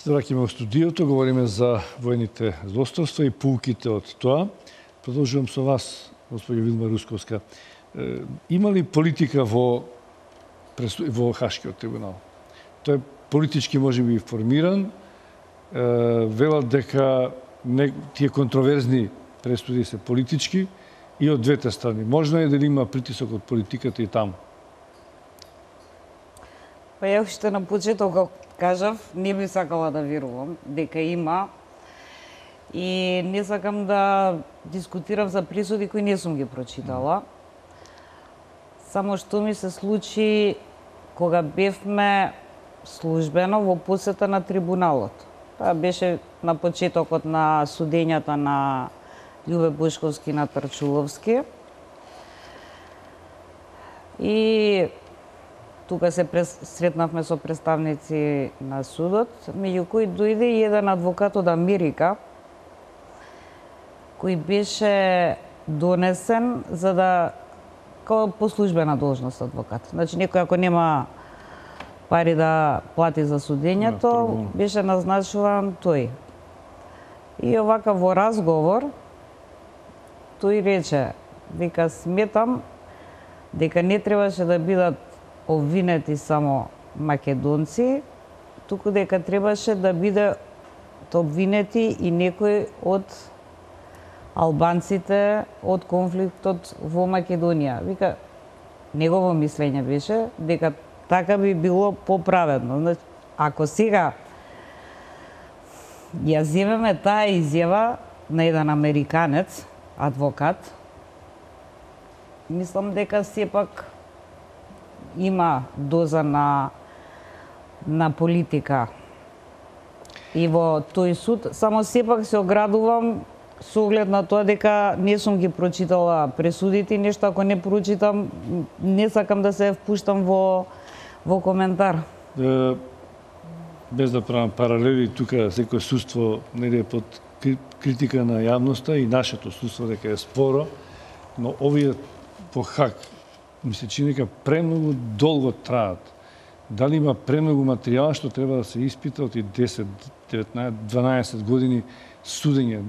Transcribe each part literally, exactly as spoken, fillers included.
Се враќаме во студиото, говориме за воените злосторства и пулките од тоа. Продолжувам со вас, господја Вилма Русковска. Има ли политика во, во Хашкиот трибунал? Тој е политички можеби формиран. Велат дека не, тие контроверзни пресуди се политички и од двете страни. Можно е дали има притисок од политиката и таму? Па ја уште на почеток кажав, не би сакала да верувам дека има и не сакам да дискутирам за пресуди кои не сум ги прочитала. Само што ми се случи кога бевме службено во посета на трибуналот. Тоа беше на почетокот на судењата на Љубе Бошковски на Тарчуловски. И тука се сретнавме со представници на судот, меѓу кои дојде и еден адвокат од Америка, кој беше донесен за да како по службена должност адвокат. Значи некој ако нема пари да плати за судењето, беше назначуван тој. И овака во разговор тој рече, дека сметам дека не требаше да бидат обвинети само македонци, туку дека требаше да биде обвинети и некои од албанците од конфликтот во Македонија. Вика, негово мислење беше дека така би било поправедно. Ако сега ја земеме таа изјава на еден американец, адвокат, мислам дека сепак има доза на на политика и во тој суд, само сепак се оградувам со оглед на тоа дека не сум ги прочитала пресудите, нешто ако не прочитам, не сакам да се впуштам во во коментар. Е, без да правам паралели, тука секој судство не е под критика на јавноста и нашето судство дека е споро, но овие по Хаг ми се чини дека премногу долго траат. Дали има премногу материјала што треба да се испита од десет, деветнаесет, дванаесет години судење,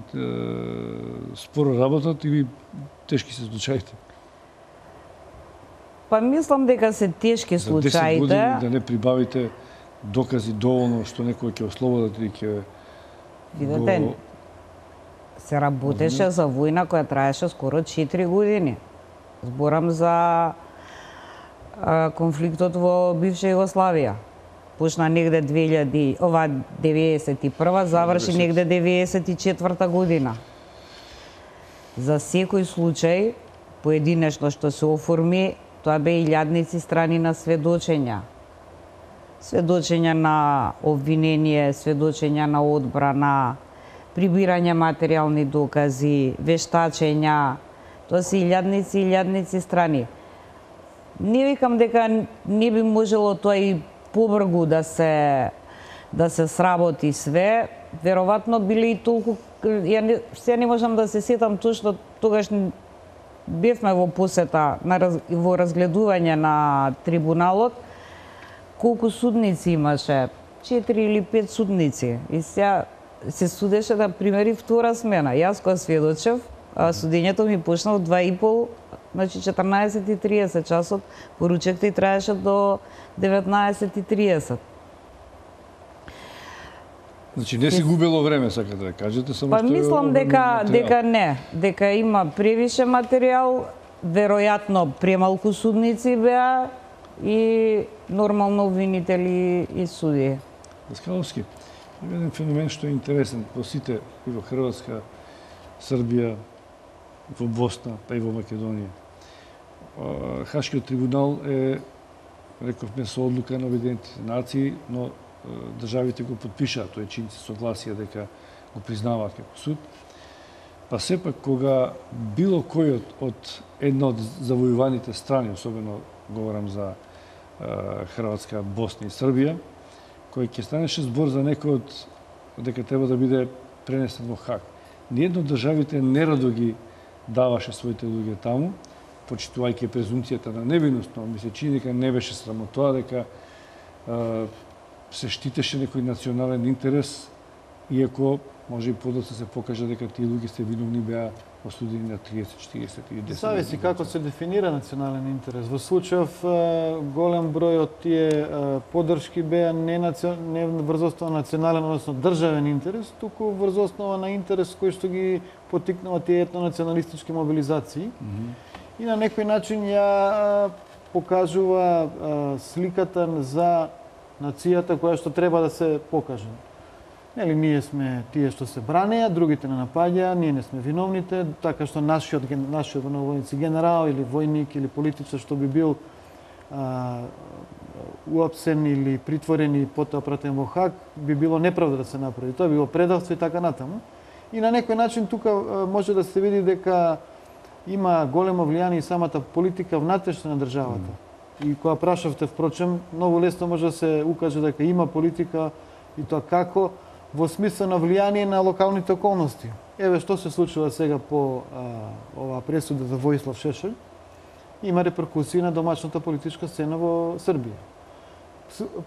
споро работат или тешки се случаите? Па мислам дека се тешки случаите. За десет години да не прибавите докази доволно што некој ќе ослободат или ќе... Видете, го... се работеше за војна која траеше скоро четири години. Зборам за а, конфликтот во бивша Југославија. Почна негде две илјади, ова деветдесет и прва, заврши негде деветдесет и четврта година. За секој случај, поединечно што се оформи, тоа бе илјадници страни на сведочења. Сведочења на обвинение, сведочења на одбрана, прибирање материјални докази, вештачења. Тоа се илјадници и илјадници страни. Не викам дека не би можело тоа и побргу да се да се сработи све, веројатно биле и толку, ја не, се не можам да се сетам точно, тогаш бевме во посета на во разгледување на трибуналот, колку судници имаше, четири или пет судници. И сега се судеше да примери втора смена. Јас кога сведочев, судењето ми почна од два и пол, значи четрнаесет и триесет часот, поручекте и траеше до деветнаесет и триесет. Значи не си губело време, сакате да кажете, само па, што... Па мислам дека, дека не, дека има превише материјал, веројатно премалку судници беа и нормално обвинители и судии. Даскаловски, има еден феномен што е интересен во сите, и во Хрватска, Србија, во Босна, па и во Македонија. Хашкиот трибунал е, рековме, со одлука на Обединетите нации, но државите го подпишаат, тој чинци согласија дека го признаваат како суд. Па сепак, кога било кој од, од една од завојуваните страни, особено говорам за е, Хрватска, Босна и Србија, кој ќе станеше збор за некој од дека треба да биде пренесен во Хаг. Ниедно државите нерадо ги даваше своите луѓе таму, почитувајќи презумцијата на невиност, но ми се чини дека не беше срамо тоа, дека е, се штитеше некој национален интерес, иако може и подоцна се покаже дека тие луѓе се виновни беа осудени на триесет, четиесет или десет. Зависи како се дефинира национален интерес. Во случајов голем број од тие поддршки беа не, наци... не врз основа на национален, односно државен интерес, туку врз основа на интерес кој што ги потикнува тие етнонационалистички мобилизации. Mm -hmm. И на некој начин ја покажува сликата за нацијата која што треба да се покаже. Нели, ние сме тие што се бранеа, другите не напаѓаа, ние не сме виновните, така што нашиот, нашиот војници генерал или војник или политичар што би бил а, уапсен или притворен и потоа пратен во Хаг, би било неправда да се направи. Тоа би било предавство и така натаму. И на некој начин тука а, може да се види дека има големо влијание и самата политика внатрешна на државата. Mm. И кога прашавте, впрочем, многу лесно може да се укаже дека има политика и тоа како, во смисла на влијание на локалните околности. Еве што се случува сега по а, оваа пресуда за Војислав Шешелј, има реперкусии на домашната политичка сцена во Србија.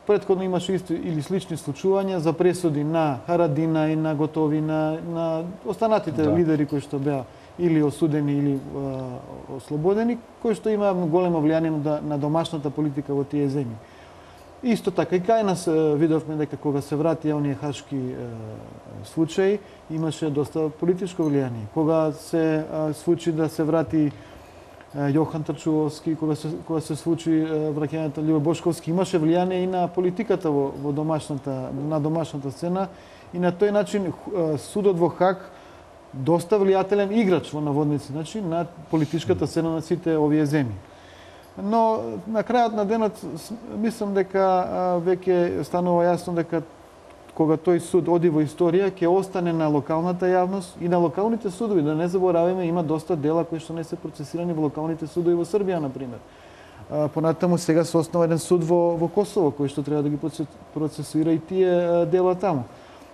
Претходно имаше исти или слични случувања за пресуди на Харадина и на Готовина, на останатите да. лидери кои што беа или осудени или а, ослободени, кои што има големо влијание на, на домашната политика во тие земји. Исто така и кај нас видовме дека кога се вратија оние хашки е, случаи, имаше доста политичко влијание. Кога се е, случи да се врати е, Јохан Трчуловски, кога се кога се случи враќањето на Љубо Бошковски, имаше влијание и на политиката во, во домашната на домашната сцена и на тој начин е, судот во Хаг доста влијателен играч во наводници, значи на политичката сцена на сите овие земји. Но на крајот на денот мислам дека веќе станува јасно дека кога тој суд оди во историја ќе остане на локалната јавност и на локалните судови. Да не забораваме, има доста дела кои што не се процесирани во локалните судови во Србија, на пример. Понатаму сега се основа еден суд во во Косово кој што треба да ги процесира и тие дела таму.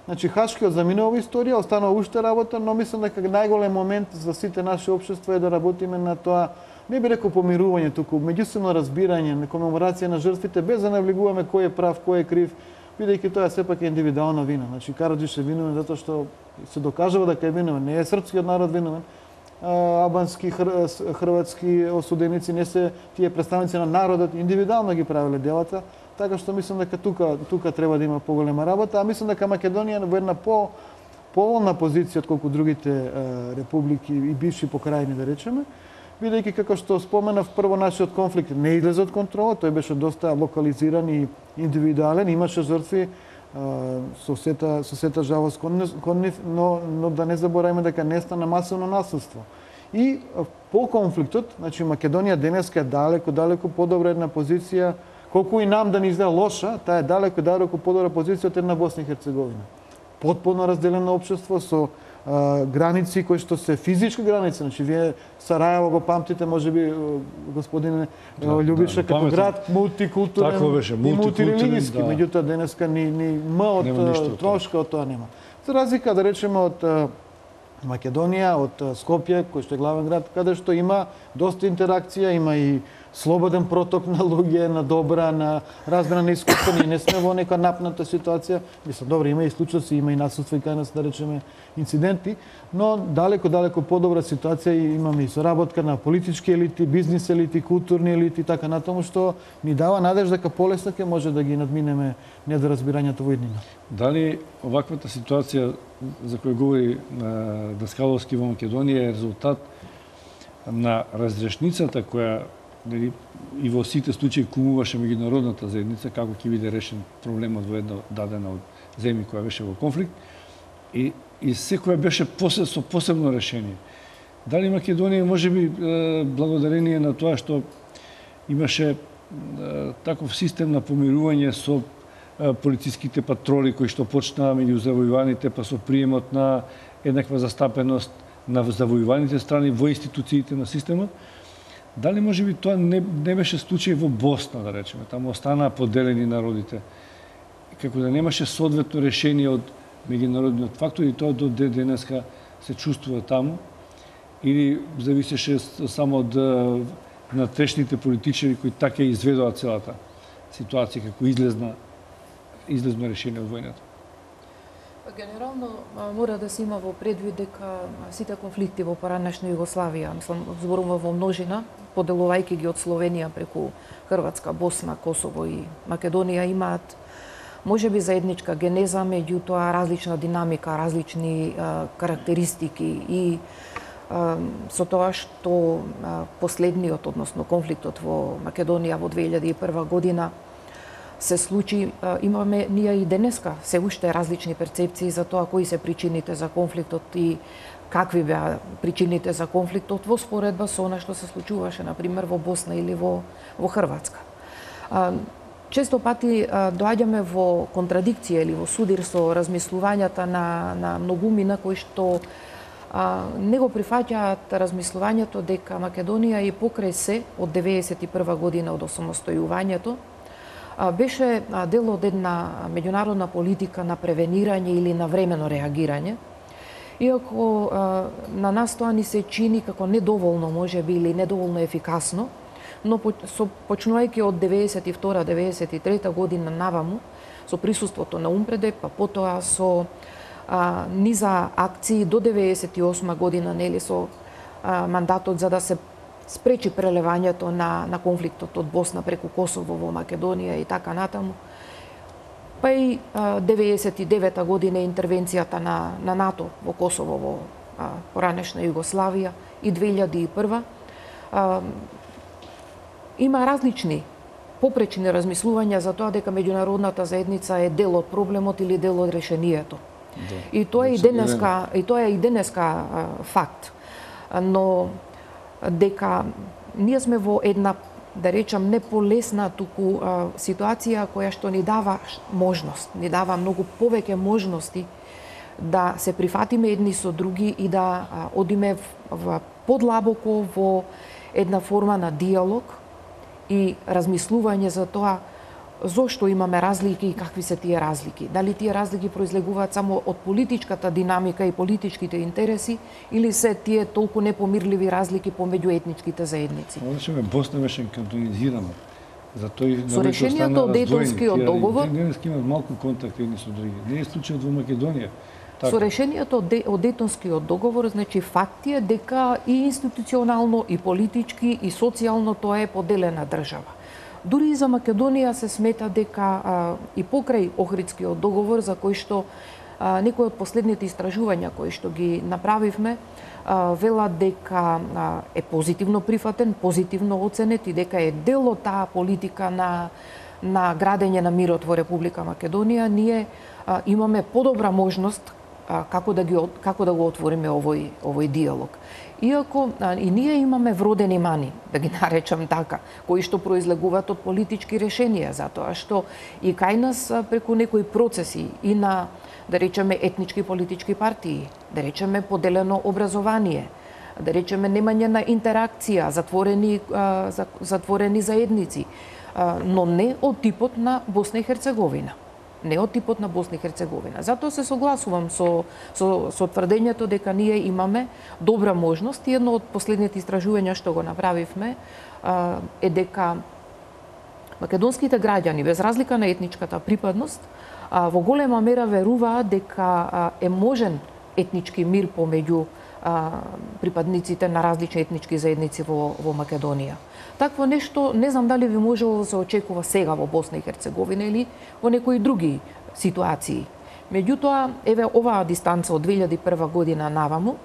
Значи хашкиот заминува во историја, останува уште работа, но мислам дека најголем момент за сите наши општества е да работиме на тоа, не би рекол помирување, туку меѓусебно разбирање, на комеморација на жртвите, без да навлегуваме кој е прав, кој е крив, бидејќи тоа сепак е индивидуална вина. Значи Караџиш е виновен затоа што се докажува дека е виновен, не е српскиот народ виновен. Албански, хрватски осуденици не се тие представници на народот, индивидуално ги правеле делата, така што мислам дека тука тука треба да има поголема работа, а мислам дека Македонија во една по поволна позиција отколку другите е, републики и бивши покрајни, да речеме, бидејќи како што споменав, прво нашиот конфликт не излезе од контрола, тој беше доста локализиран и индивидуален, имаше жртви со сета со сета жалост кон нив, но но да не забораваме дека не стана масовно насилство. И по конфликтот, значи Македонија денеска е далеку далеку подобра една позиција, колку и нам да ни изгледа лоша, таа е далеку далеку подобра позиција од една Босна и Херцеговина. Потполно разделено општество со а, граници кои што се физички граници, значи вие Сарајево го памтите, можеби господине да, Љубиша, да, како град мултикултурен беше, и мултирелигиски, да. Меѓутоа денеска ни ни м од трошка од тоа нема. За разлика, да речеме, од Македонија, од Скопје, кој што е главен град, каде што има доста интеракција, има и слободен проток на луѓе, на добра, на размена на искуства. Ние не сме во нека напната ситуација. Мислам, добро, има и случаи, има и насилство и кај нас, да речеме, инциденти, но далеко, далеко подобра ситуација и имаме и соработка на политички елити, бизнис елити, културни елити, така натаму, што ни дава надежда дека полесно ќе може да ги надминеме недоразбирањето во иднина. Дали оваквата ситуација за која говори Даскаловски во Македонија е резултат на разрешницата која и во сите случаи кумуваше меѓународната заедница како ќе биде решен проблемот во една дадена од земји која беше во конфликт и и секоја беше посебно со посебно решение. Дали Македонија можеби благодарение на тоа што имаше таков систем на помирување со полициските патроли кои што почнаа меѓу завојуваните, па со приемот на еднаква застапеност на завојуваните страни во институциите на системот. Дали можеби тоа не, не беше случај во Босна, да речеме, таму останаа поделени народите, како да немаше соодветно решение од меѓународниот фактор и тоа до денеска се чувствува таму, или зависеше само од внатрешните политичари кои така изведоа целата ситуација, како излезна излезно решение од војната? Генерално мора да се има во предвид дека сите конфликти во поранешна Југославија, мислам, зборувам во множина, поделувајќи ги од Словенија преку Хрватска, Босна, Косово и Македонија, имаат можеби заедничка генеза, меѓутоа различна динамика, различни а, карактеристики и а, со тоа што а, последниот, односно конфликтот во Македонија во две илјади и прва година се случи, а, имаме ние и денеска се уште различни перцепции за тоа кои се причините за конфликтот и какви беа причините за конфликтот во споредба со она што се случуваше, например, во Босна или во, во Хрватска. А, често пати а, доаѓаме во контрадикција или во судир со размислувањата на, на многумина кои што а, не го прифаќаат размислувањето дека Македонија и покрај се од деветдесет и прва година од осамостојувањето беше дел од една меѓународна политика на превенирање или на времено реагирање. Иако на нас тоа ни се чини како недоволно можеби или недоволно ефикасно, но со почнувајќи од деветдесет и втора деветдесет и трета година наваму, со присуството на Умпредеп, па потоа со а, низа акции до деветдесет и осма година, нели, со а, мандатот за да се спречи прелевањето на, на конфликтот од Босна преку Косово во Македонија и така натаму. Па и а, деветдесет и девета година интервенцијата на, на НАТО во Косово во а, поранешна Југославија и две илјади и прва. А, има различни попречни размислувања за тоа дека меѓународната заедница е дел од проблемот или дел од решението. Да. И тоа е и денеска, и тоа е и денеска а, факт. Но дека ние сме во една, да речам, не полесна, туку а, ситуација која што ни дава можност, ни дава многу повеќе можности да се прифатиме едни со други и да а, одиме в, в подлабоко во една форма на диалог и размислување за тоа зошто имаме разлики и какви се тие разлики. Дали тие разлики произлегуваат само од политичката динамика и политичките интереси или се тие толку непомирливи разлики помеѓу етничките заедници? Одеше Босна беше кантонизирана. Затоа со решението од Дејтонскиот договор денеска имаат малку контакт едни со други. Не е случајот во Македонија. Така. Со решението од, Де, од Дејтонскиот договор, значи факт е дека и институционално, и политички, и социјално тоа е поделена држава. Дури и за Македонија се смета дека а, и покрај Охридскиот договор, за кој што а, некои од последните истражувања кои што ги направивме, а, велат дека а, е позитивно прифатен, позитивно оценет и дека е дел од таа политика на, на градење на мирот во Република Македонија, ние а, имаме подобра можност а, како да ги како да го отвориме овој овој диалог. Иако а, и ние имаме вродени мани, да ги наречам така, кои што произлегуваат од политички решенија, затоа што и кај нас а, преку некои процеси и на, да речеме, етнички политички партии, да речеме поделено образование, да речеме немање на интеракција, затворени а, затворени заедници, а, но не од типот на Босна и Херцеговина. Не од типот на Босна и Херцеговина. Затоа се согласувам со, со, со тврдењето дека ние имаме добра можност и едно од последните истражувања што го направивме а, е дека македонските граѓани, без разлика на етничката припадност, а, во голема мера веруваат дека а, е можен етнички мир помеѓу а, припадниците на различни етнички заедници во, во Македонија. Такво нешто не знам дали би можело да се очекува сега во Босна и Херцеговина или во некои други ситуации. Меѓутоа, еве оваа дистанца од две илјади и прва година наваму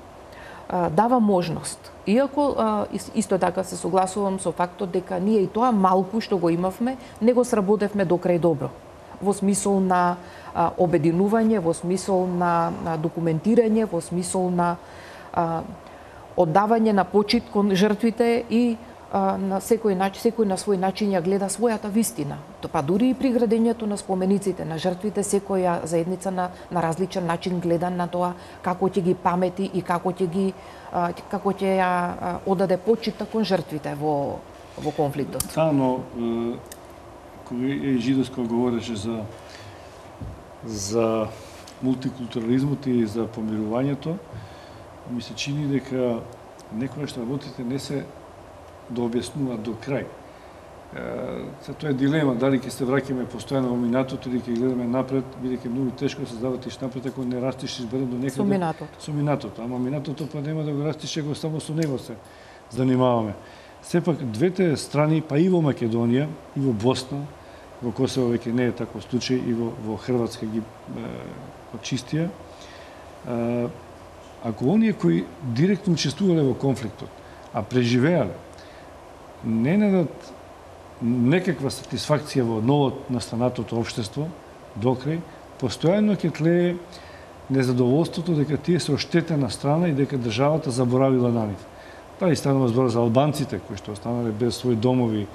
а, дава можност. Иако а, исто така се согласувам со фактот дека ние и тоа малку што го имавме, не го сработевме до крај добро. Во смисол на а, обединување, во смисол на, на документирање, во смисол на а, оддавање на почит кон жртвите и на секој начин, секој на свој начин ја гледа својата вистина. Па дури и при градењето на спомениците на жртвите, секоја заедница на, на различен начин гледа на тоа како ќе ги памети и како ќе ги како ќе ја одаде почита кон жртвите во во конфликтот. Да, но кој е Жидовска говореше за за мултикултурализмот и за помирувањето, ми се чини дека некогаш работите не се да објаснуваат до крај. се тоа е дилема, дали ќе се враќаме постојано во минатото или ќе гледаме напред, бидејќи многу тешко се завртиш напред ако не растиш изберен до некаде. Со минатото. Со минатото, ама минатото па нема да го растиш, ако само со него се занимаваме. Сепак двете страни, па и во Македонија, и во Босна, во Косово веќе не е таков случај, и во, во Хрватска ги почистија. Ако оние кои директно учествувале во конфликтот, а преживеале, не најдат некаква сатисфакција во ново настанатото општество, докрај, постојано ќе тлее незадоволството дека тие се оштетена страна и дека државата заборавила на нив. Дали станува збор за албанците, кои што останале без своји домови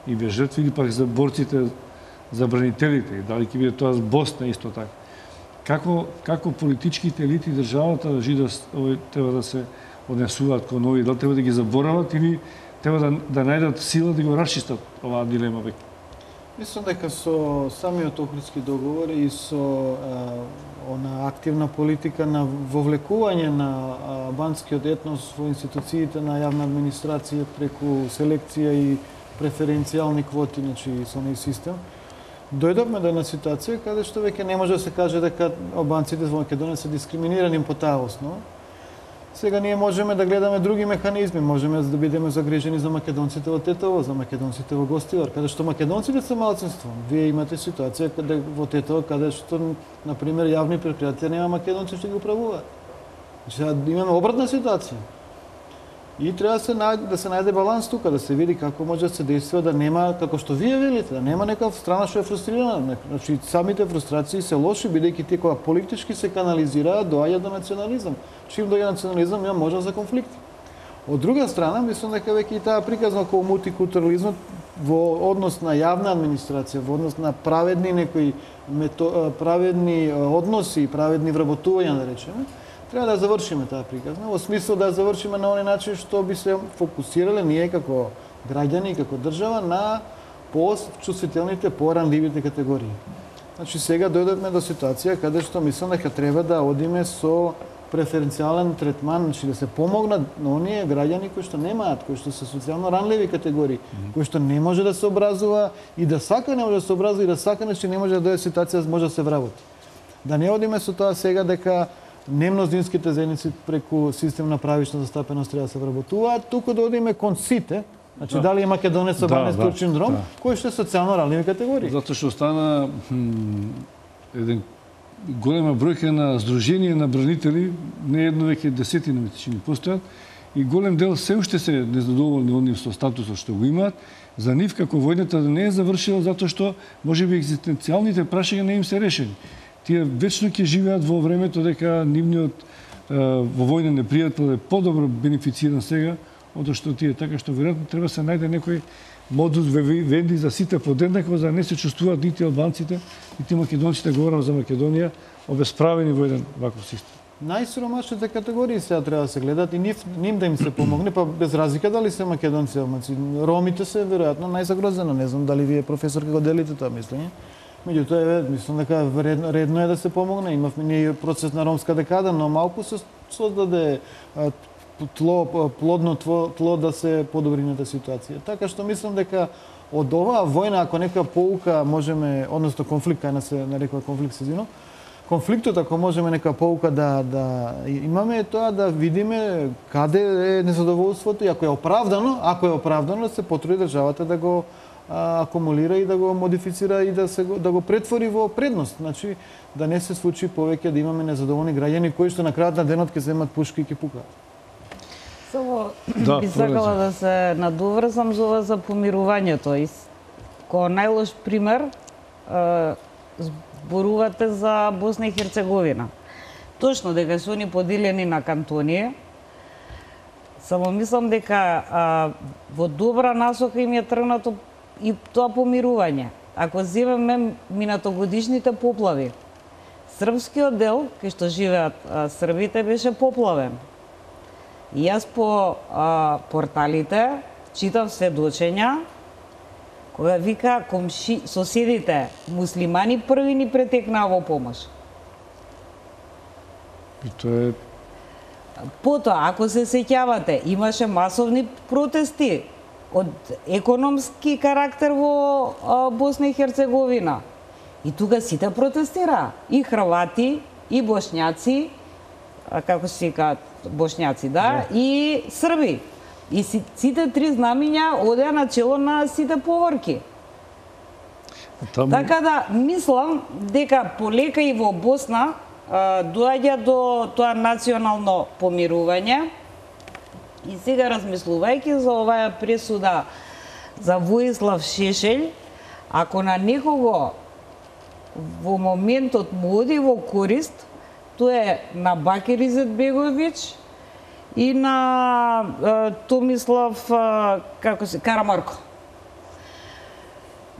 и без жртви, или пак за борците, за бранителите, дали ќе биде тоа Босна исто така. Како, како политичките елити државата да треба да се однесуваат кон овие, дали треба да ги заборават или треба да, да најдат сила да го расчистат оваа дилема веќе? Мислам дека со самиот Охридски договор и со а, она активна политика на вовлекување на албанскиот етнос во институциите на јавна администрација преку селекција и преференцијални квоти, значи со неј систем, дојдовме до една ситуација каде што веќе не може да се каже дека албанците во Македонија се дискриминирани по таа основа. Сега ние можеме да гледаме други механизми, можеме да бидеме загрижени за македонците во Тетово, за македонците во Гостивар, каде што македонците се малцинство. Вие имате ситуација каде во Тетово каде што на пример јавни претпријатија нема македонци што ги управуваат. Значи имаме обратна ситуација. И треба да се најде, да се најде баланс тука, да се види како може да се действува, да нема, како што вие велите, да нема некоја страна што е фрустрирана. Значи, самите фрустрации се лоши, бидејќи тие кога политички се канализираат, доаѓа до национализам. Чим доаѓа национализам, има можност за конфликти. Од друга страна, мислам дека веќе и таа приказна околу мултикултурализмот во однос на јавна администрација, во однос на праведни некои мето, праведни односи, праведни вработувања, да речеме, треба да завршиме таа приказна, во смисла да завршиме на оној начин што би се фокусирале ние како граѓани и како држава на по-чувствителните, по-ранливите категории. Значи сега дојдовме до ситуација каде што мислам дека треба да одиме со преференцијален третман, значи да се помогнат на оние граѓани кои што немаат, кои што се социјално ранливи категории, mm-hmm. кои што не може да се образува и да сака не може да се образува и да сака нешто не може да дојде ситуација може да се вработи. Да не одиме со тоа сега дека немнознинските заедници преку систем на правична застапеност треба да се вработуваат, туку да одиме кон сите, значи да. Дали е македонец со барнески да, синдром, да. Кој што е социјално ранливи категории. Затоа што стана хм, еден голема бројка на здруженија на бранители, не едно веќе десетина месечини постојат, и голем дел се уште се незадоволни од нив со статусот што го имаат. За нив како војната не е завршила затоа што можеби екзистенцијалните прашања не им се решени. Тие вечно ќе живеат во времето дека нивниот во војна непријател е подобро бенефициран сега, од што тие, така што веројатно треба се најде некој модус вивенди за сите подеднакво, за да не се чувствуваат нити албанците, нити македонците, говорам за Македонија, обесправени во еден ваков систем. Најсиромашните категории сега треба да се гледат и нив, ним да им се помогне, па без разлика дали се македонци, албанци. Ромите се веројатно најзагрозено, не знам дали вие професор како делите тоа мислење. Меѓутоа, е, мислам дека редно, редно е да се помогне. Имавме ние процес на ромска декада, но малку се создаде тло, плодно тло да се подобри на ситуација. Така што мислам дека од оваа војна, ако нека поука можеме, односно конфликт, кај нас се нарекува конфликт сезино, конфликтот ако можеме нека поука да, да имаме е тоа да видиме каде е незадоволството и ако е оправдано, ако е оправдано да се потруди државата да го а, акумулира и да го модифицира и да се да го претвори во предност. Значи да не се случи повеќе да имаме незадоволни граѓани кои што на крајот на денот ќе земат пушки и ќе пукаат. Само да, би сакала да се надоврзам за ова за помирувањето. И ко најлош пример зборувате за Босна и Херцеговина. Точно дека се они поделени на кантони. Само мислам дека а, во добра насока им е тргнато и тоа помирување. Ако земеме минатогодишните поплави, српскиот дел, кај што живеат а, србите, беше поплавен. И јас по а, порталите читав сведочења кога вика комши, соседите муслимани први ни претекнаа во помош. И тоа е... Потоа, ако се сеќавате, имаше масовни протести од економски карактер во а, Босна и Херцеговина. И тука сите протестираа, и хрвати, и бошњаци, а, како се викаат бошњаци, да, да, и срби. И сите три знамиња одеа на чело на сите поворки. Таму... Така да, мислам дека полека и во Босна а, доаѓа до тоа национално помирување. И сега размислувајќи за оваа пресуда за Воислав Шешелј, ако на некого во моментот му оди во корист, тоа е на Бакир Изетбеговиќ и на а, Томислав а, како се Карамарко.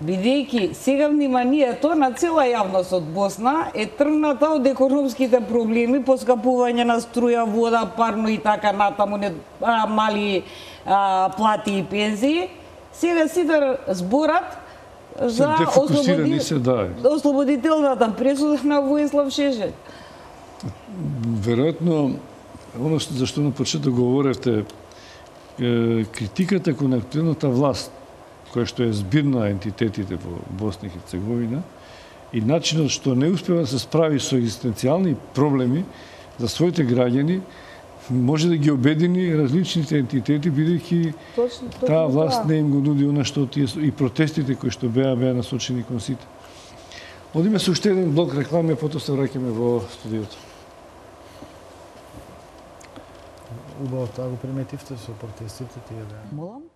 Бидејќи сега вниманието на цела јавност од Босна е тргната од економските проблеми, поскапување на струја, вода, парно и така натаму, не, а, мали а, плати и пензии, сега сите зборат за ослободи... се, да. ослободителната пресуда на Воислав Шешелј. Веројатно, оно за што на почеток говоревте, критиката кон актуелната власт, која што е збир на ентитетите во Босна и Херцеговина, и начинот што не успева да се справи со екзистенцијални проблеми за своите граѓани, може да ги обедини различните ентитети, бидејќи таа власт не им го нуди она што тие и протестите кои што беа беа насочени кон сите. Одиме со уште еден блок реклами, а потоа се враќаме во студиото. Убаво тоа го приметивте со протестите тие да. Молам?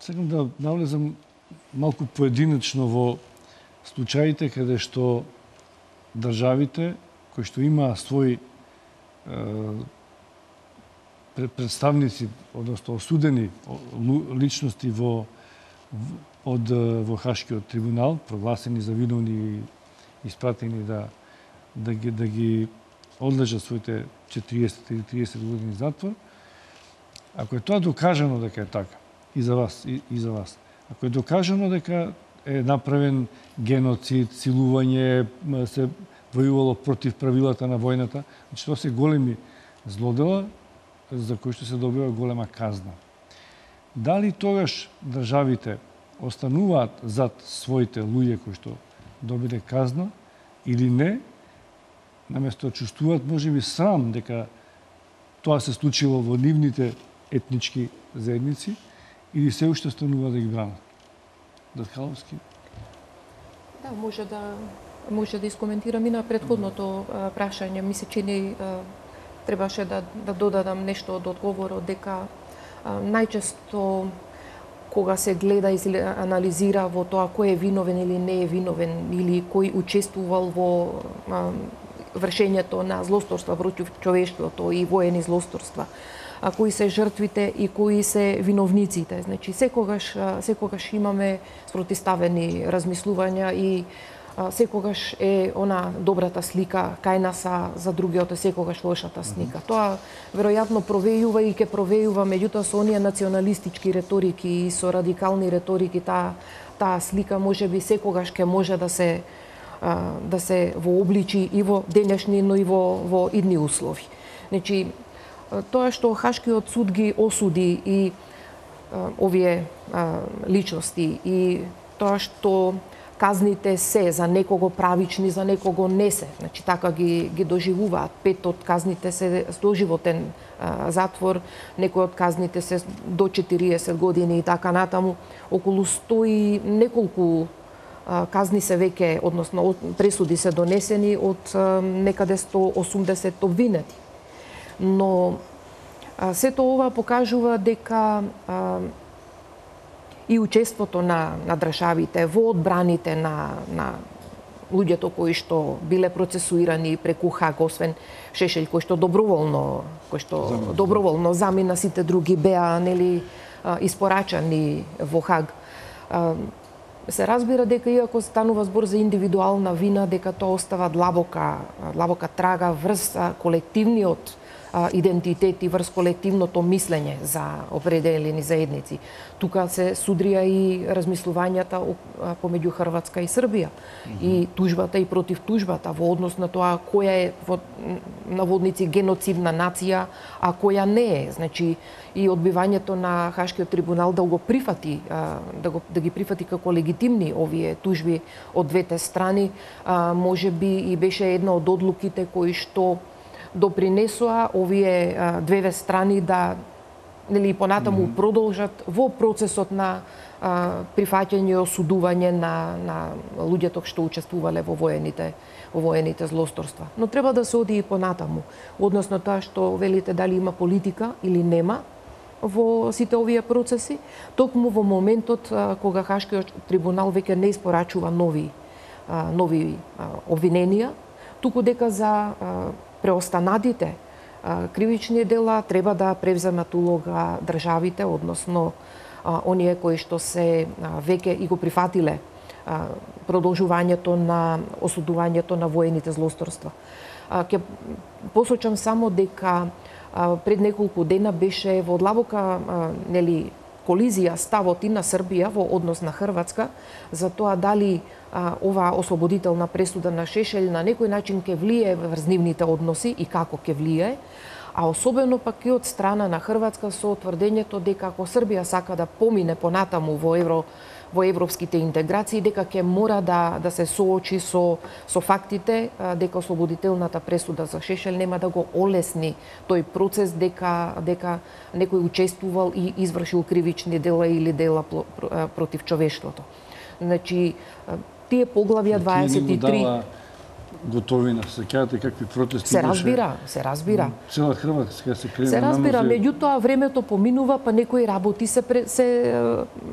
Сакам да навлезам малку поединечно во случаите каде што државите кои што имаа своји представници, одnosno осудени личности во од во Хашкиот трибунал, прогласени за виновни и испратени да да ги да ги одлежат своите четириесет или триесет години затвор. Ако е тоа докажано дека е така, и за вас, и, и за вас. Ако е докажано дека е направен геноцид, силување, се војувало против правилата на војната, значи тоа се големи злодела за кои што се добива голема казна. Дали тогаш државите остануваат зад своите луѓе кои што добиле казна или не, наместо да чувствуваат можеби срам дека тоа се случило во нивните етнички заедници, или се уште останува да ги бранат? Даткаловски? Да, може да може да искоментирам и на претходното а, прашање. Ми се чини а, требаше да да додадам нешто од одговорот дека а, најчесто кога се гледа и се анализира во тоа кој е виновен или не е виновен или кој учествувал во а, вршењето на злосторства против човештвото и воени злосторства, а кои се жртвите и кои се виновниците. Значи секогаш секогаш имаме спротиставени размислувања и а, секогаш е она добрата слика кај нас, а за другиот е секогаш лошата слика. Mm-hmm. Тоа веројатно провејува и ќе провејува, меѓутоа со оние националистички реторики и со радикални реторики таа таа слика можеби секогаш ќе може да се а, да се вообличи и во денешни, но и во во идни услови. Значи тоа што Хашкиот суд ги осуди и овие личности и тоа што казните се за некого правични, за некого не се. Значи така ги ги доживуваат. Пет од казните се доживотен затвор, некои од казните се до четириесет години и така натаму. Околу сто и неколку казни се веќе, односно пресуди се донесени од некаде сто осумдесет обвинети. Но сето ова покажува дека а, и учеството на, на државите во одбраните на, на луѓето кои што биле процесуирани преку Хаг, освен Шешелј кој што доброволно, кој што замина. доброволно замина, сите други беа нели испорачани во Хаг. Се разбира дека иако станува збор за индивидуална вина, дека тоа остава длабока, длабока трага врз колективниот идентитет и врз колективното мислење за определени заедници. Тука се судрија и размислувањата помеѓу Хрватска и Србија. Mm-hmm. И тужбата и против тужбата во однос на тоа која е во наводници геноцидна нација, а која не е. Значи и одбивањето на Хашкиот трибунал да го прифати, да, го, да ги прифати како легитимни овие тужби од двете страни, може би и беше една од одлуките кои што допринесоа овие а, две страни да нели понатаму mm -hmm. продолжат во процесот на а, прифаќање и осудување на на луѓето што учествувале во воените во воените злосторства. Но треба да се оди и понатаму, односно тоа што велите дали има политика или нема во сите овие процеси, токму во моментот а, кога Хашкиот трибунал веќе не испорачува нови а, нови а, обвиненија, туку дека за а, преостанатите кривични дела треба да превземат улога државите, односно оние кои што се веќе и го прифатиле продолжувањето на осудувањето на воените злосторства. Ќе посочам само дека пред неколку дена беше во длабока нели колизија ставот и на Србија во однос на Хрватска за тоа дали а, ова ослободителна пресуда на Шешелј на некој начин ќе влие врз нивните односи и како ќе влие, а особено пак и од страна на Хрватска со тврдењето дека ако Србија сака да помине понатаму во евро во европските интеграции, дека ќе мора да да се соочи со со фактите дека ослободителната пресуда за Шешелј нема да го олесни тој процес, дека дека некој учествувал и извршил кривични дела или дела против човештвото. Значи тие поглавја дваесет и три Готовина, сеќавате какви протести се разбира, се разбира. Цела Хрватска се крене. Се разбира, меѓутоа времето поминува, па некои работи се се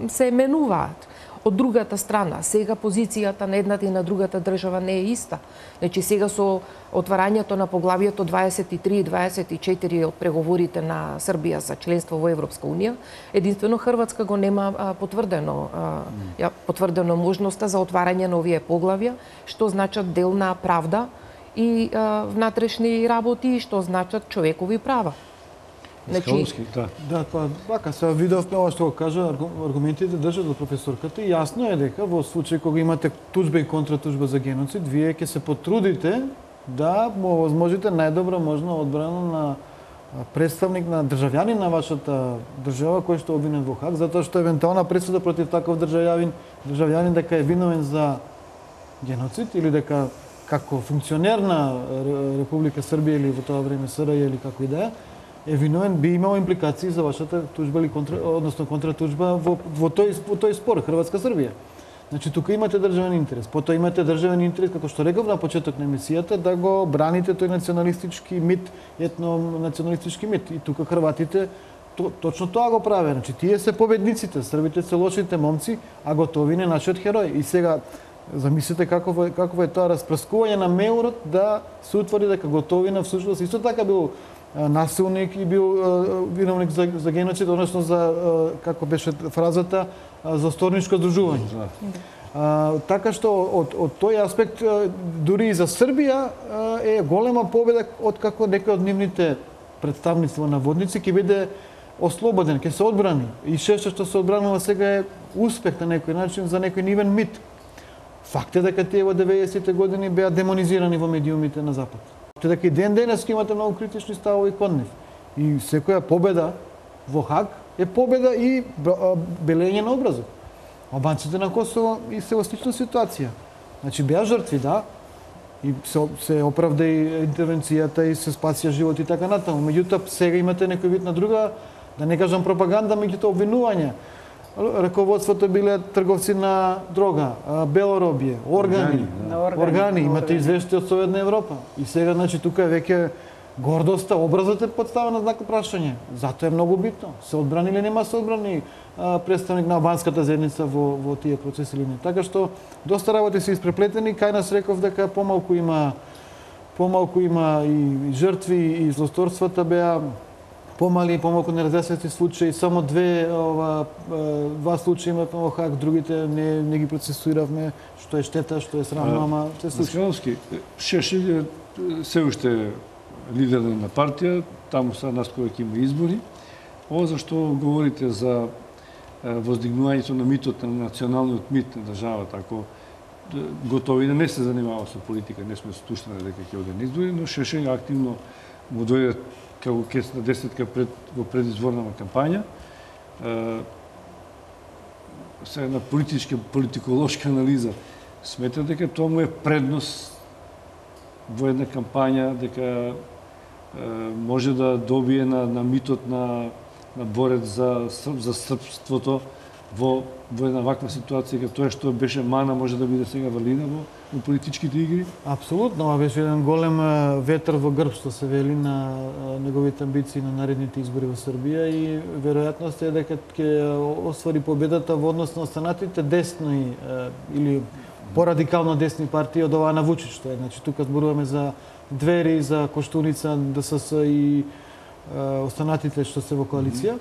се менуваат. Од другата страна, сега позицијата на едната и на другата држава не е иста. Значи сега со отварањето на поглавието дваесет и три и дваесет и четири од преговорите на Србија за членство во Европска унија, единствено Хрватска го нема а, потврдено а, ја, потврдено можноста за отварање на овие поглавја, што значат дел на правда и а, внатрешни работи, што значат човекови права. Значи, да. Да, па вака се видовме ова што го кажа, аргументите држат од професорката и јасно е дека во случај кога имате туџба и контратуџба за геноцид, вие ќе се потрудите да му возможите најдобра можна одбрана на представник на државјанин на вашата држава кој што е обвинет во Хаг, затоа што евентуална пресуда против таков државјанин, државјанин дека е виновен за геноцид или дека како функционер на Република Србија или во тоа време СРЈ или како и да е, е виновен, би имало импликации за вашата туџба или контра, односно контратуџба во, во тој во тој спор Хрватска Србија. Значи тука имате државен интерес, потоа имате државен интерес како што реков на почеток на емисијата да го браните тој националистички мит, етно националистички мит и тука хрватите то, точно тоа го праве. Значи тие се победниците, србите се лошите момци, а Готовин е нашиот херој. И сега замислете какво е какво е тоа распрскување на меурот да се утврди дека Готовина всушност исто така бил насилник и бил виновник за, за геноцид, односно за, како беше фразата, за сторничко здружување. А, така што од, од тој аспект, дури и за Србија, е голема победа од како некој од нивните представници во наводници ќе биде ослободен, ќе се одбрани. И Шешелј што се одбранува сега е успех на некој начин за некој нивен мит. Факт е дека тие во деветдесетите години беа демонизирани во медиумите на Запад. Те дека и ден денес имате многу критични ставови кон нив. И секоја победа во Хаг е победа и белење на образот. Албанците на Косово и се во слична ситуација. Значи беа жртви, да, и се, се оправда и интервенцијата и се спасија животи и така натаму. Меѓутоа сега имате некој вид на друга, да не кажам пропаганда, меѓутоа обвинување. Раководството биле трговци на дрога, белоробје, органи, да. органи, органи, имате извештаи од Советна Европа. И сега, значи, тука е веќе гордоста, образот е подставен на знак прашање. Затоа е многу битно. Се одбрани или нема се одбрани представник на албанската заедница во, во тие процеси или не. Така што доста работи се испреплетени, кај нас реков дека помалку има помалку има и жртви и злосторствата беа помали и помалку неразјаснети случаи, само две ова два случаи имавме во Хаг, другите не не ги процесуиравме, што е штета, што е срамно, ама се случи. Скановски, Шешелј се уште лидер на партија, таму са наскоро ќе има избори. Ова зашто говорите за воздигнувањето на митот на националниот мит на државата, ако готови да не се занимава со политика, не сме стушнали дека ќе оде на избори, но Шешелј активно му дојде како кесна десетка пред во предизборна кампања. Се на политичка политиколошка анализа смета дека тоа му е предност во една кампања, дека може да добие на, на митот на, на борец за, за српството во, во една ваква ситуација, како тоа што беше мана, може да биде сега валидна во, во политичките игри? Апсолутно, ова беше еден голем ветер во грб, што се вели на неговите амбиции на наредните избори во Србија и веројатноста е дека ќе оствари победата во однос на останатите десни или порадикално десни партии од оваа на Вучич, што е. Значи, тука зборуваме за Двери, за Коштуница, ДСС и е, останатите што се во коалиција.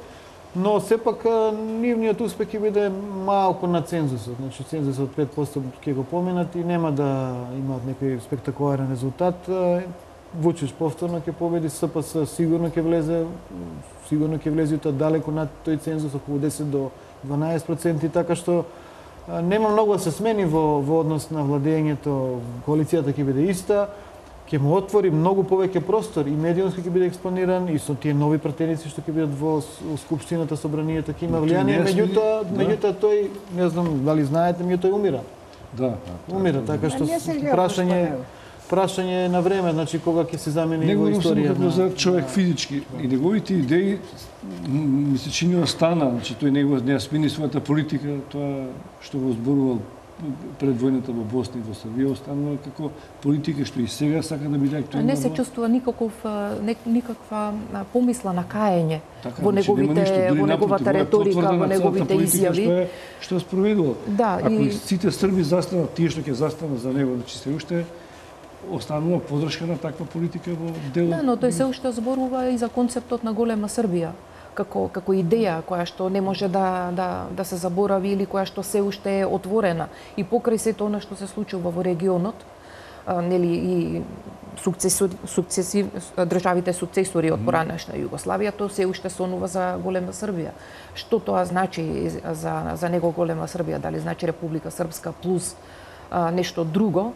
Но сепак нивниот успех ќе биде малку на цензусот. Значи, цензусот пет проценти ќе го поминат и нема да имаат некој спектакуларен резултат. Вучич повторно ќе победи, СПС сигурно ќе влезе, сигурно ќе влезе тоа далеку над тој цензус, околу десет до дванаесет проценти, така што нема многу да се смени во, во однос на владењето. Коалицијата ќе биде иста, ќе му отвори многу повеќе простор и медиумски ќе биде експониран и со тие нови пратеници што ќе бидат во скупштината, собранието, ќе има влијание, меѓутоа, да. меѓутоа тој, не знам дали знаете, меѓутоа умира. Да, умира, така што прашање прашање на време, значи кога ќе се замени во историја. Него за човек физички и неговите идеи ми се чини остана, значи тој него не смени својата политика, тоа што го зборувал пред војната во Босна и во Србија, останува како политика што и сега сака да биде актуелна. Не се чувствува никаков не, никаква помисла на каење така, во неговите во неговата реторика, во неговите изјави што е што е спроведувал. Да, ако и сите срби застанат, тие што ќе застанат за него, значи се уште останува подршка на таква политика во делот. Да, но тој се уште зборува и за концептот на голема Србија како како идеја која што не може да да да се заборави или која што се уште е отворена и покрај сето она што се случува во регионот, а, нели и сукцесори сукцесив државите сукцесори од поранешна Југославија, тоа се уште сонува за голема Србија. Што тоа значи за за него голема Србија? Дали значи Република Српска плюс а, нешто друго?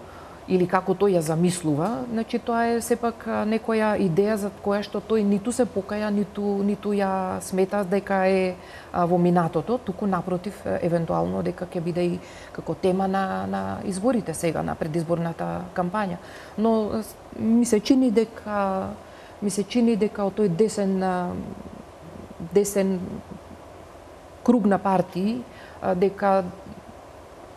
Или како тој ја замислува, значи тоа е сепак некоја идеја за која што тој ниту се покаја, ниту ниту ја смета дека е во минатото, туку напротив, евентуално дека ќе биде и како тема на на изборите сега, на предизборната кампања. Но ми се чини дека ми се чини дека од тој десен десен круг на партии дека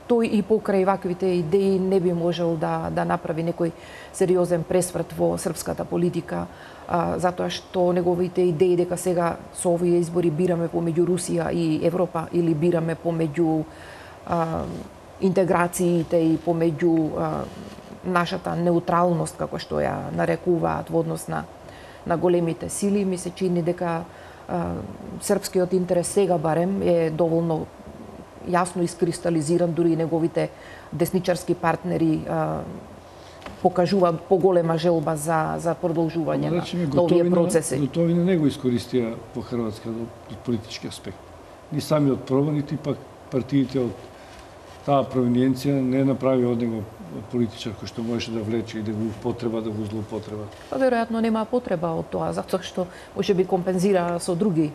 тој и покрај ваквите идеи не би можел да да направи некој сериозен пресврт во српската политика, а, затоа што неговите идеи дека сега со овие избори бираме помеѓу Русија и Европа или бираме помеѓу а, интеграциите и помеѓу а, нашата неутралност, како што ја нарекуваат во однос на на големите сили, ми се чини дека а, српскиот интерес сега барем е доволно јасно искристализиран, дури и неговите десничарски партнери а, покажуваат поголема желба за за продолжување на, на овие процеси. Готови на него искористија по Хрватска од политички аспект. Ни самиот пробан, нити пак партиите од таа провиненција не направи од него политичар кој што можеше да влече и да го употреба, да го злоупотреба? Па веројатно нема потреба од тоа, затоа што може би компензира со други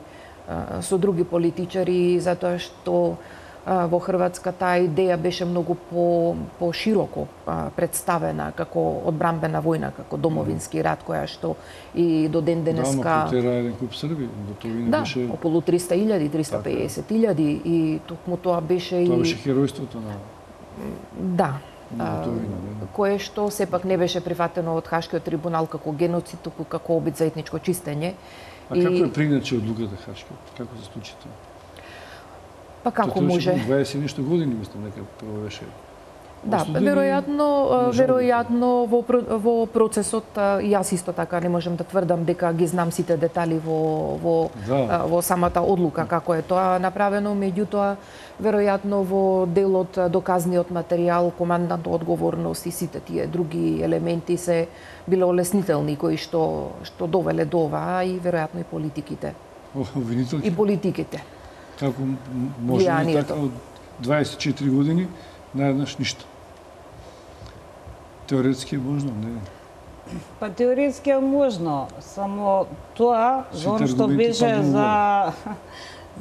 со други политичари, затоа што во Хрватска таа идеја беше многу по пошироко представена како одбрамбена војна, како домовински рат, која што и до ден денеска. Да, ма потера еден куп Срби, готовина да, беше. Да, околу триста илјади, триста и педесет илјади и токму тоа беше и тоа беше херојството на. Да. Готовина, а, кое што сепак не беше прифатено од Хашкиот трибунал како геноцид, туку како обид за етничко чистење. А и... како е приначе одлуката Хашкиот? Како се случи тоа? Па како може? дваесет нешто години, мислам, нека прво беше. Да, веројатно, веројатно во во процесот и јас исто така не можам да тврдам дека ги знам сите детали во во да. во самата одлука како е тоа направено, меѓутоа веројатно во делот доказниот материјал, командната одговорност и сите тие други елементи се биле олеснителни кои што што довеле до ова и веројатно и политиките. Обвинителки? И политиките. Како може да така од дваесет и четири години наеднаш ништо? Теоретски е можно, не? Па теоретски е можно, само тоа за оно што беше за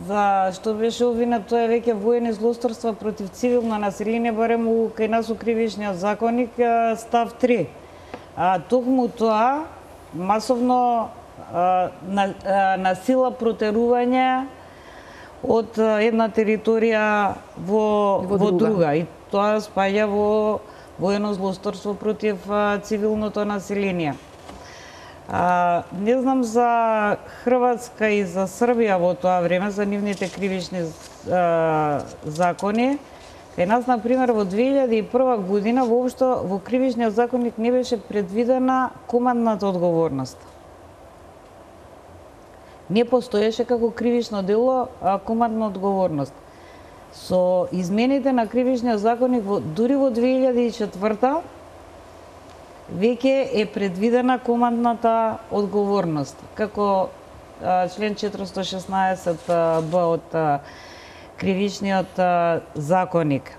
за што беше обвинет, тоа е веќе воени злосторства против цивилно население, барем у кај нас у кривичниот законник став три. А токму тоа масовно а, на, а, на сила протерување од една територија во, во, во друга. друга. И тоа спаѓа во воено злосторство против а, цивилното население. А, не знам за Хрватска и за Србија во тоа време, за нивните кривични а, закони. Кај нас, например, во две илјади и прва година воопшто во кривичниот законник не беше предвидена командната одговорност. Не постоеше како кривично дело а, командна одговорност. Со измените на кривичниот законник во, дури во две илјади и четврта веќе е предвидена командната одговорност како а, член четиристо и шеснаесет б од а, кривичниот а, законник.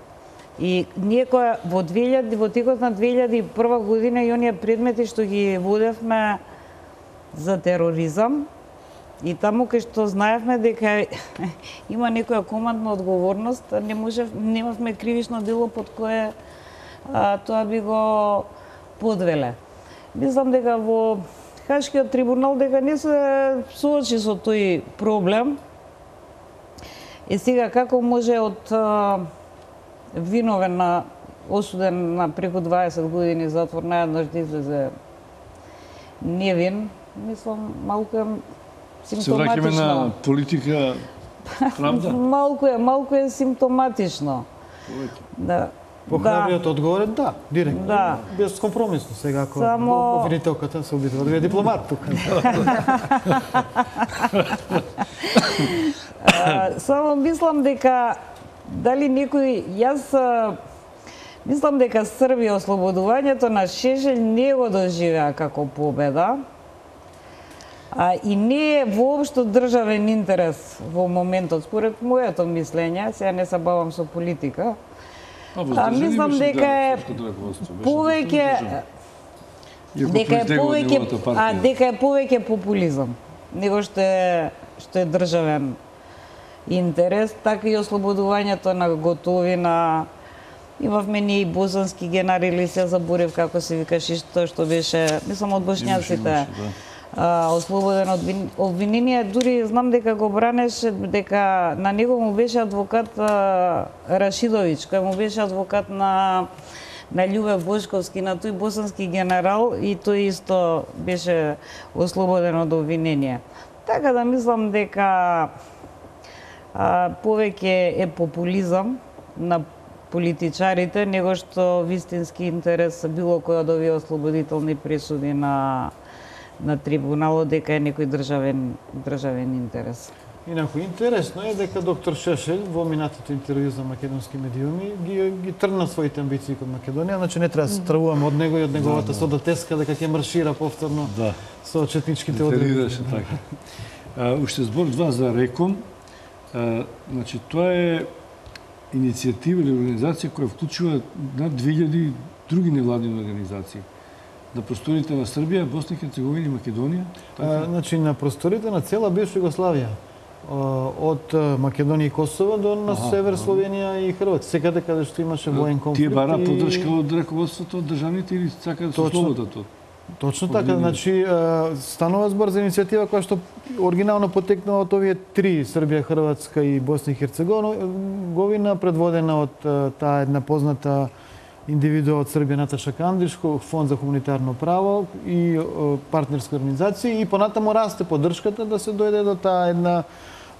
И ние која во две илјади во текот на две илјади и прва година и оние предмети што ги водевме за тероризам, и таму кај што знаевме дека има некоја командна одговорност, не можев, немавме кривично дело под кое а, тоа би го подвеле. Мислам дека во Хашкиот трибунал дека не се соочи со тој проблем. И сега како може од а, виновен на осуден на преку дваесет години затвор наеднаш да излезе невин, мислам малку е симптоматично. Се враќаме на политика, правда? малку е, малку е симптоматично. Да. Похрабриот да. Одговор е да, директно. Да. Без компромисно сега ако Само... обвинителката се обидува да е дипломат тука. Само мислам дека дали некој јас мислам дека Србија ослободувањето на Шешелј не го доживеа како победа. А, и не е воопшто државен интерес во моментот, според моето мислење, сега не се бавам со политика. А, мислам дека е повеќе дека е повеќе а дека е повеќе популизам него што е што е државен интерес, така и ослободувањето на Готовина. Имавме ние и босански генерали, се заборев како се викаше тоа што беше, мислам од бошњаците. Ослободен од обвинение, дури знам дека го бранеше, дека на него му беше адвокат а, Рашидовиќ, кој му беше адвокат на на Љубе Бошковски, на тој босански генерал, и тој исто беше ослободен од обвинение. Така да мислам дека а, повеќе е популизам на политичарите, него што вистински интерес било кој од овие ослободителни пресуди на на трибуналот дека е некој државен државен интерес. Инаку интересно е дека доктор Шешелј во минатото интервју за македонски медиуми ги ги тргна своите амбиции кон Македонија, значи не треба да се стравуваме од него и од неговата да, содатеска дека ќе маршира повторно да. Со четничките одредби. Така. А, уште збор два за Реком. А, значи тоа е иницијатива или организација која вклучува над две илјади други невладини организации. На просторите на Србија, Босна и Херцеговина и Македонија? А, значи, на просторите на цела бивша Југославија. Од Македонија и Косово до на Аха, север аха. Словенија и Хрватска. Секаде каде што имаше воен конфликт. Тие бара и- поддршка од раководството од државните или сака да се Точно. ослободат од? Точно Од така, линија. значи е, станува збор за иницијатива која што оригинално потекнува од овие три, Србија, Хрватска и Босна и Херцеговина, предводена од е, таа една позната индивидуа од Србија Наташа Кандиш, Фонд за хуманитарно право и е, партнерски организации, и понатаму расте поддршката да се дојде до таа една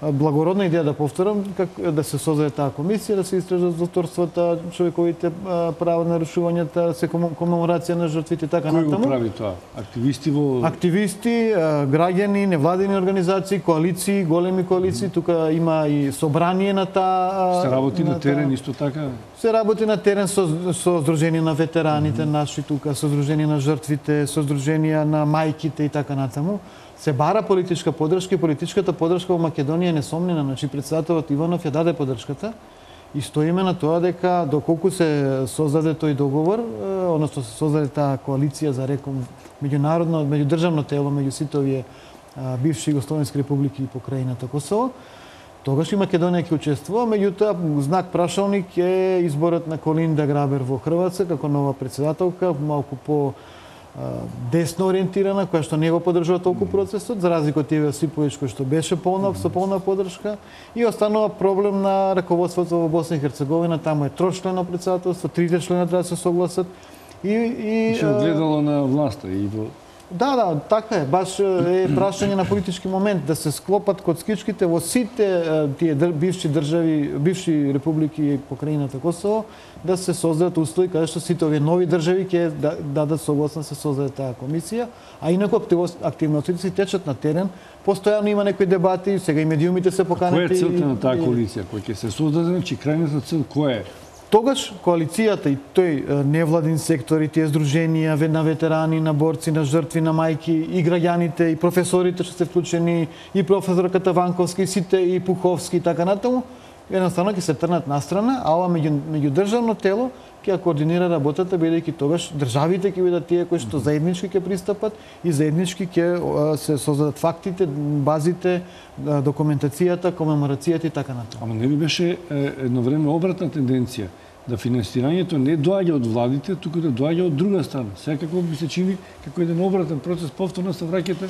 благородна идеја, да повторам, как да се создаде таа комисија, да се истражат злоторствата, човековите а, права, нарушувањата, се комем- комеморација на жртвите и така Кој го натаму. прави тоа? Активисти во... Активисти, а, граѓани, невладини организации, коалиции, големи коалиции, тука има и собрание на таа... Се работи на таа- терен исто така? Се работи на терен со, со Сдружение на ветераните mm -hmm. наши тука, со Сдружение на жртвите, со Сдруженија на мајките и така натаму. Се бара политичка поддршка и политичката поддршка во Македонија е несомнена. Значи, председателот Иванов ја даде поддршката и стоиме на тоа дека доколку се создаде тој договор, е, односно се создаде таа коалиција за реком меѓународно, меѓудржавно тело меѓу сите овие а, бивши југословенски републики и покрајината Косово, тогаш и Македонија ќе учествува, меѓутоа знак прашалник е изборот на Колинда Грабер во Хрватска како нова председателка, малку по а, десно ориентирана, која што не го поддржува толку процесот, за разлика од Иве Осиповиќ кој што беше полна со полна поддршка, и останува проблем на раководството во Босна и Херцеговина, таму е трочлено председателство, трите члена треба да се согласат и и Се а, огледало на власта и во... Да, да, така е. Баш е прашање на политички момент да се склопат коцкичките во сите е, тие држ, бивши држави, бивши републики и покрајината Косово, да се создадат услови каде што сите овие нови држави ќе да- дадат согласна се создаде таа комисија, а инаку активос- активностите се течат на терен. Постојано има некои дебати, сега и медиумите се Која поканети. е целта и- на таа и- коалиција? Кој ќе се создаде, значи крајната цел која е? Тогаш коалицијата и тој е, невладин сектор и тие здруженија ве- на ветерани, на борци, на жртви, на мајки и граѓаните и професорите што се вклучени, и професорката Ванковски, и сите и Пуховски и така натаму, едноставно ќе се трнат настрана, а ова меѓу меѓудржавно тело ќе ја координира работата, бидејќи тогаш државите ќе бидат тие кои што заеднички ќе пристапат и заеднички ќе а, се создадат фактите, базите, а, документацијата, комеморацијата и така натаму. Ама не ли беше е, едно време обратна тенденција да финансирањето не доаѓа од владите, туку да доаѓа од друга страна. Секако би се чини како еден обратен процес, повторно се враќате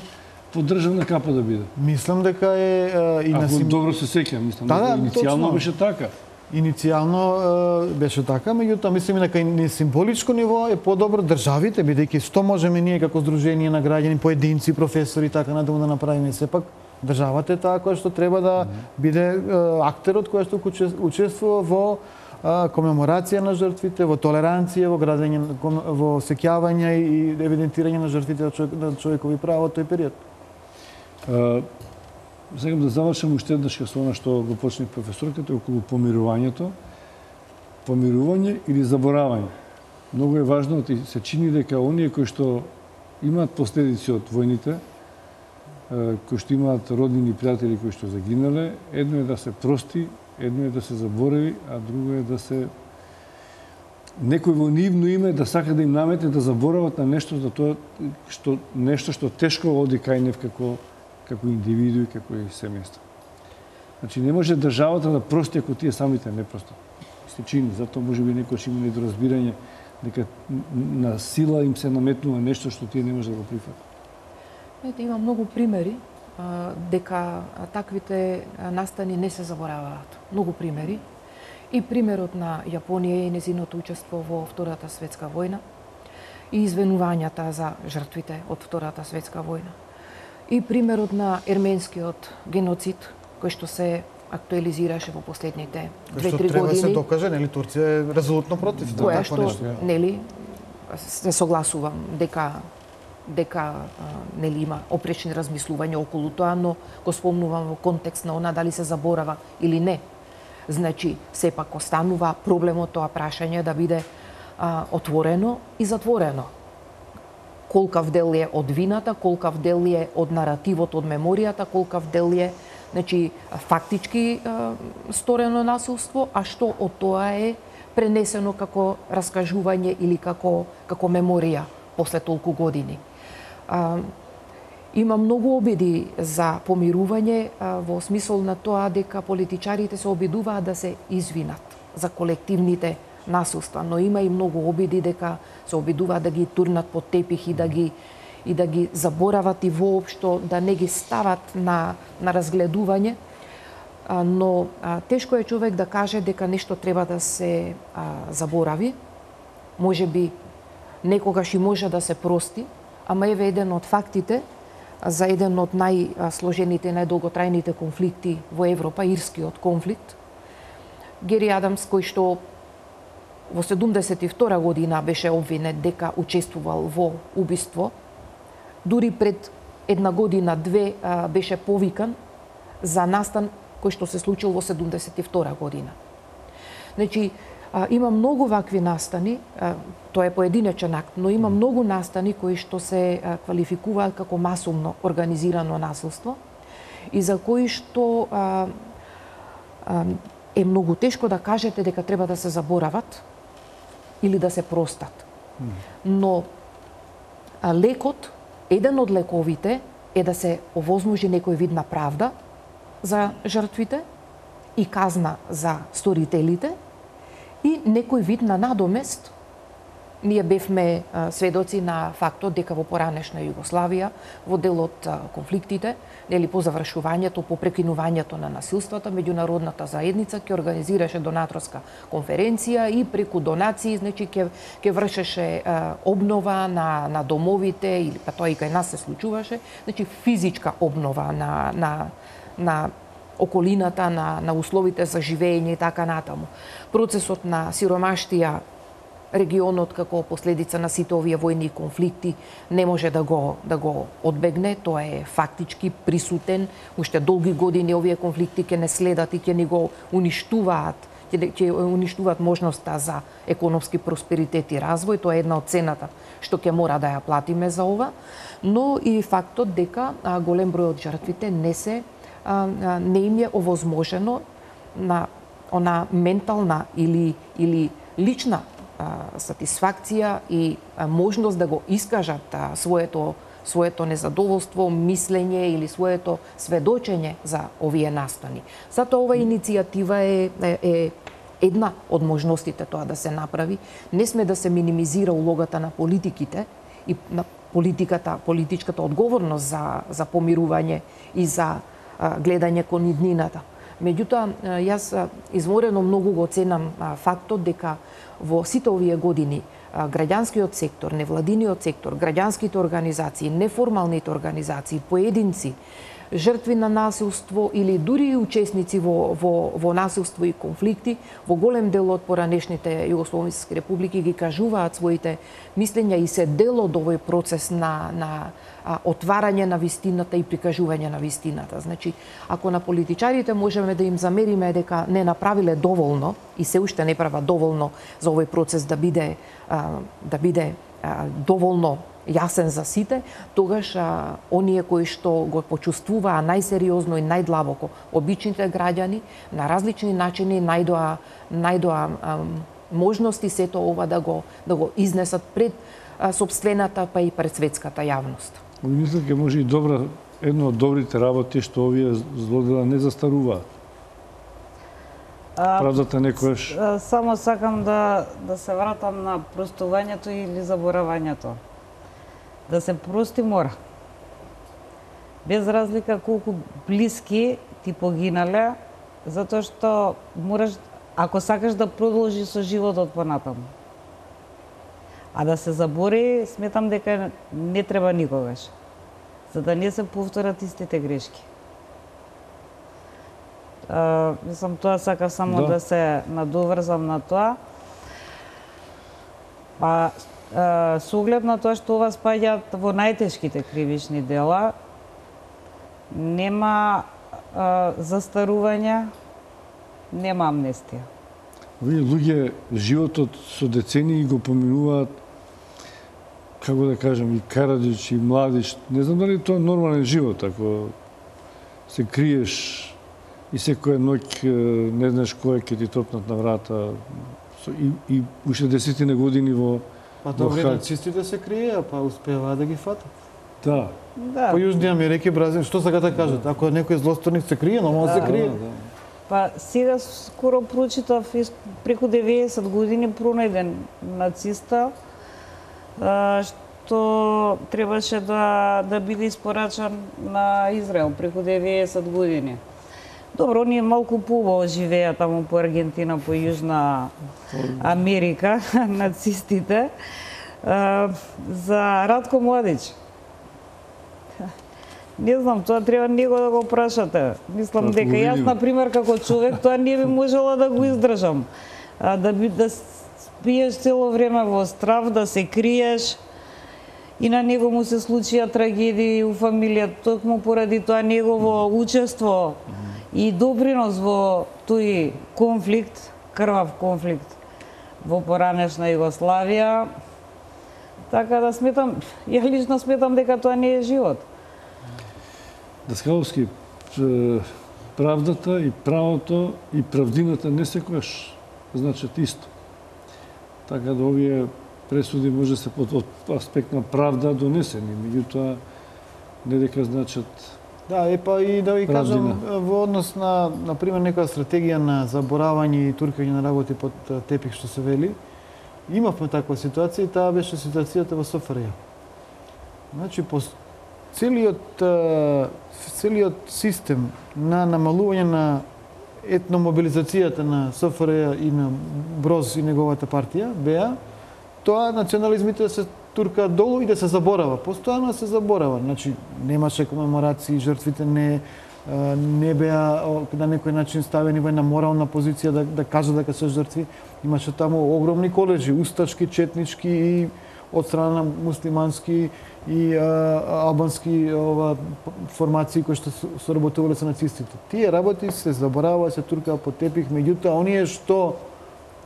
по државна капа да биде. Мислам дека е а, и на Ако сим... добро се сеќавам, мислам Да, дека да, иницијално точно. беше така. Иницијално е, беше така, меѓутоа мислам и дека и на символичко ниво е подобро државите, бидејќи што можеме ние како здружение на граѓани, поединци, професори и така натаму да направиме, сепак државата е таа која што треба да биде е, актерот кој што учес- учествува во е, комеморација на жртвите, во толеранција, во градење, на- ком- во сеќавање и евидентирање на жртвите на човек- на човекови права во тој период. А, Сакам да завршам уште еднаш со она што го почне професорката околу помирувањето. Помирување или заборавање. Многу е важно, и се чини дека оние кои што имаат последици од војните, е, кои што имаат роднини и пријатели кои што загинале, едно е да се прости, едно е да се заборави, а друго е да се некој во нивно име да сака да им наметне да заборават на нешто за тоа што нешто што тешко оди кај нив како како индивиду и како и семејство. Значи не може државата да прости ако тие самите не простат. Се чини, затоа можеби некојаш има недоразбирање дека на сила им се наметнува нешто што тие не може да го прифатат. Ете, има многу примери а, дека а, таквите а, настани не се забораваат. Многу примери. И примерот на Јапонија и незиното учество во Втората светска војна, и извинувањата за жртвите од Втората светска војна. И примерот на ерменскиот геноцид, кој што се актуализираше во последните Кој што две-три треба да се години. докаже, нели Турција е резолутно против да, Која такво што, нешто. нели, се согласувам дека дека а, нели има опречни размислувања околу тоа, но го спомнувам во контекст на она дали се заборава или не. Значи, сепак останува проблемот тоа прашање да биде а, отворено и затворено. Колкав дел е од вината, колкав дел е од наративот, од меморијата, колкав дел е, значи, фактички а, сторено насилство, а што од тоа е пренесено како раскажување или како како меморија после толку години. А, има многу обиди за помирување а, во смисол на тоа дека политичарите се обидуваат да се извинат за колективните насилства, но има и многу обиди дека се обидуваат да ги турнат под тепих и да ги и да ги заборават и воопшто да не ги стават на на разгледување. А, но а, тешко е човек да каже дека нешто треба да се а, заборави. Можеби некогаш и може да се прости, ама еве еден од фактите за еден од најсложените, најдолготрајните конфликти во Европа, ирскиот конфликт. Гери Адамс, кој што во седумдесет и втора година беше обвинет дека учествувал во убиство, дури пред една година, две беше повикан за настан кој што се случил во седумдесет и втора година. Значи, има многу вакви настани, тоа е поединечен акт, но има многу настани кои што се квалификуваат како масовно организирано насилство и за кои што а, а, е многу тешко да кажете дека треба да се заборават или да се простат. Но а, лекот, еден од лековите е да се овозможи некој вид на правда за жртвите и казна за сторителите и некој вид на надомест. Ние бевме а, сведоци на фактот дека во поранешна Југославија, во дел од а, конфликтите, нели по завршувањето, по прекинувањето на насилствата, меѓународната заедница ќе организираше донаторска конференција и преку донации, значи ќе ќе вршеше а, обнова на на домовите или па тоа и кај нас се случуваше, значи физичка обнова на на на околината, на, на условите за живење и така натаму. Процесот на сиромаштија регионот како последица на сите овие војни конфликти не може да го да го одбегне, тоа е фактички присутен, уште долги години овие конфликти ќе не следат и ќе ни го уништуваат, ќе ќе уништуваат можноста за економски просперитет и развој, тоа е една од цената што ќе мора да ја платиме за ова, но и фактот дека а, голем број од жртвите не се не им е овозможено на она ментална или или лична а, сатисфакција и а, можност да го искажат а, своето своето незадоволство, мислење или своето сведочење за овие настани. Затоа ова иницијатива е, е, е една од можностите тоа да се направи. Не сме да се минимизира улогата на политиките и на политиката, политичката одговорност за за помирување и за гледање кон иднината. Меѓутоа, јас изморено многу го ценам фактот дека во сите овие години граѓанскиот сектор, невладиниот сектор, граѓанските организации, неформалните организации, поединци, жртви на насилство или дури и учесници во, во, во насилство и конфликти, во голем дел од поранешните југословенски републики ги кажуваат своите мислења и се дел од овој процес на, на а, отварање на вистината и прикажување на вистината. Значи, ако на политичарите можеме да им замериме дека не направиле доволно и се уште не прават доволно за овој процес да биде а, да биде а, доволно јасен за сите, тогаш а, оние кои што го почувствуваа најсериозно и најдлабоко обичните граѓани на различни начини најдоа најдоа а, можности сето ова да го да го изнесат пред а, собствената па и пред светската јавност. Мислам дека може и добра едно од добрите работи што овие злодела не застаруваат. Правдата некојаш. Само сакам да да се вратам на простувањето или заборавањето. Да се прости мора. Без разлика колку блиски ти погинале, затоа што мораш, ако сакаш да продолжи со животот понатаму. А да се забори, сметам дека не треба никогаш, за да не се повторат истите грешки. А, мислам, тоа сакав само да, да се надоврзам на тоа. Па, со оглед на тоа што ова спаѓаат во најтешките кривични дела, нема а, застарување, нема амнестија. Овие луѓе животот со децении го поминуваат, како да кажам, и Караджич, и Младич. Не знам дали тоа е нормален живот, ако се криеш и секоја ноќ не знаеш кој ќе ти топнат на врата со, и, и уште десетина години во Па во тоа Хаг. нацистите се криеа, па успеаваа да ги фатат. Да. Да. По Јужни Америка и Бразил, што сега да кажат? Ако некој злосторник се крие, нормално се крие. Да, да. Па сега скоро прочитав ис- преку деветдесет години пронајден нациста а, што требаше да да биде испорачан на Израел преку деветдесет години. Добро, ние малку поубаво живеа таму по Аргентина, по Јужна Америка, нацистите. А, за Радко Младич. Не знам, тоа треба него да го прашате. Мислам Тоа дека го јас, видиме. на пример, како човек, тоа не би можела да го издржам. А, да би да спиеш цело време во страв, да се криеш. И на него му се случија трагедии у фамилијата, токму поради тоа негово учество и допринос во тој конфликт, крвав конфликт во поранешна Југославија. Така да сметам, ја лично сметам дека тоа не е живот. Даскаловски, п- правдата и правото и правдината не секогаш значат исто. Така да овие пресуди може да се под од аспект на правда донесени, меѓутоа не дека значат. Да, е па и да ви кажам, Правдина. во однос на, на пример, некоја стратегија на заборавање и туркање на работи под а, тепих, што се вели, имавме таква ситуација и таа беше ситуацијата во СФРЈ. Значи, по с- целиот, а, целиот систем на намалување на етномобилизацијата на СФРЈ и на Броз и неговата партија, БЕА, тоа национализмите да се туркаат долу и да се заборава. Постојано се заборава. Значи, немаше комеморации, жртвите не а, не беа о, на некој начин ставени во една морална позиција да, да кажат дека се жртви. Имаше таму огромни колежи, устачки, четнички и од страна на муслимански и а, албански ова, формации кои што со- соработувале со нацистите. Тие работи се забораваа, се туркаа под тепих, меѓутоа оние што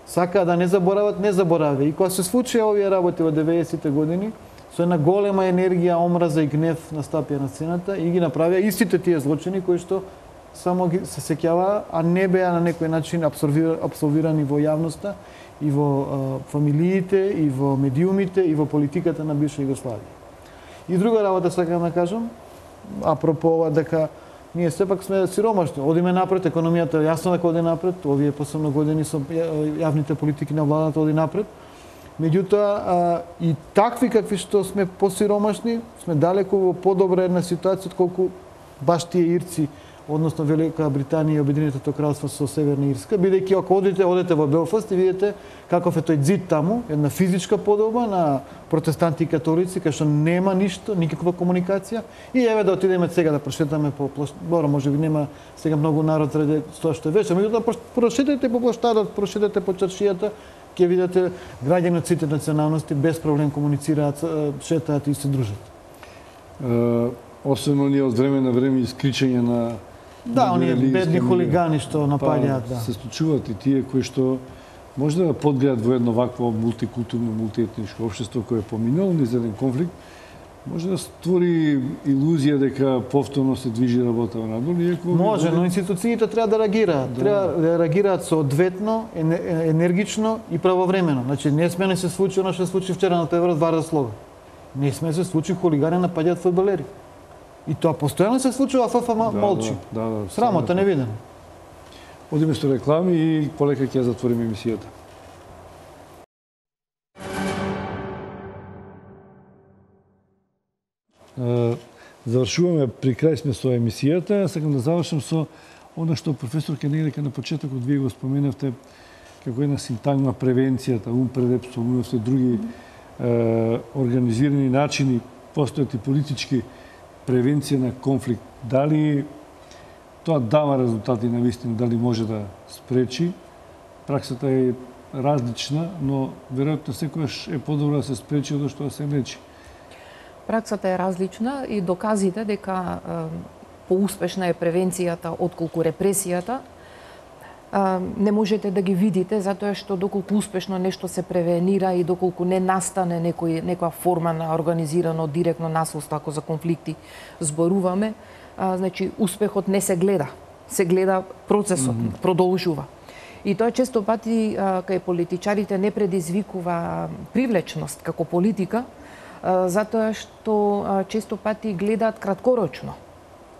сакаа да не заборават, не забораваа. И кога се случија овие работи во деветдесетите години, со една голема енергија, омраза и гнев настапија на сцената и ги направија истите тие злочини кои што само ги се сеќаваа, а не беа на некој начин абсорбира- абсолвирани во јавноста и во а, фамилиите, и во медиумите, и во политиката на бивша Југославија. И друга работа сакам да кажам, апропо ова дека ние сепак сме сиромашни, одиме напред, економијата е јасно дека оди напред, овие последно години со ја- јавните политики на владата оди напред. Меѓутоа, а, и такви какви што сме посиромашни, сме далеку во подобра една ситуација отколку баш тие ирци, односно Велика Британија и Обединетото кралство со Северна Ирска, бидејќи ако одите, одете во Белфаст и видите каков е тој ѕид таму, една физичка подоба на протестанти и католици, кај што нема ништо, никаква комуникација. И еве да отидеме сега да прошетаме по площ... Добро, може би нема сега многу народ заради тоа што е вече, меѓутоа прош- прошетете по площадот, прошетете по чаршијата, ќе видите граѓани од сите националности без проблем комуницираат, е, шетаат и се дружат. Е, Особено ние од време на време искричање на Да, на оние религијски бедни милија. хулигани што напаѓаат, Па, да. се случуваат и тие кои што може да подгреат во едно вакво мултикултурно, мултиетничко општество кое е поминало низ еден конфликт, може да створи илузија дека повторно се движи работа надолу, иако Може, но институциите треба да реагираат. Да. Треба да реагираат соодветно, ене- енергично и правовремено. Значи, не сме не се случи оно што се случи вчера на Певрот Варда Слога. Не сме се случи хулигани напаѓаат фудбалери. И тоа постојано се случува, а ФФ ма- Да, молчи. Да, да, да, Срамота невидено. Одиме со реклами и полека ќе ја затвориме емисијата. Е, Завршуваме, при крај сме со емисијата. Сакам да завршам со она што професор Кенелека на почетокот вие го споменавте како една синтагма превенцијата, ум пред спомнувавте други е, организирани начини, постојат и политички превенција на конфликт. Дали тоа дава резултати на вистина, дали може да спречи? Праксата е различна, но веројатно секогаш е подобро да се спречи од што да се лечи. Праксата е различна и доказите дека е, поуспешна е превенцијата отколку репресијата, е, не можете да ги видите затоа што доколку успешно нешто се превенира и доколку не настане некој некоја форма на организирано директно насилство, ако за конфликти зборуваме, а, значи успехот не се гледа, се гледа процесот, mm -hmm. продолжува. И тоа често пати а, кај политичарите не предизвикува привлечност како политика, а, затоа што а, често пати гледаат краткорочно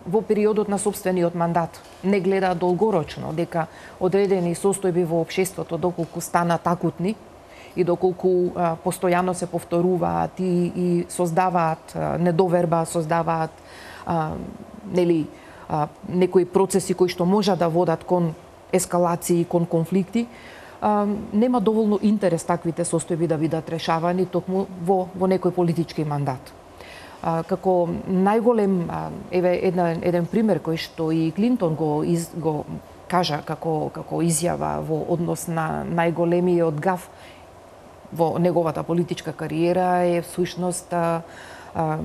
во периодот на собствениот мандат. Не гледаат долгорочно, дека одредени состојби во општеството, доколку станат акутни и доколку а, постојано се повторуваат и, и создаваат а, недоверба, создаваат а, нели, а, некои процеси кои што можат да водат кон ескалации, кон конфликти, а, нема доволно интерес таквите состојби да бидат решавани токму во, во некој политички мандат. А, како најголем, а, еве една, еден пример кој што и Клинтон го, из, го кажа како, како изјава во однос на најголемиот гаф во неговата политичка кариера е всушност а, а,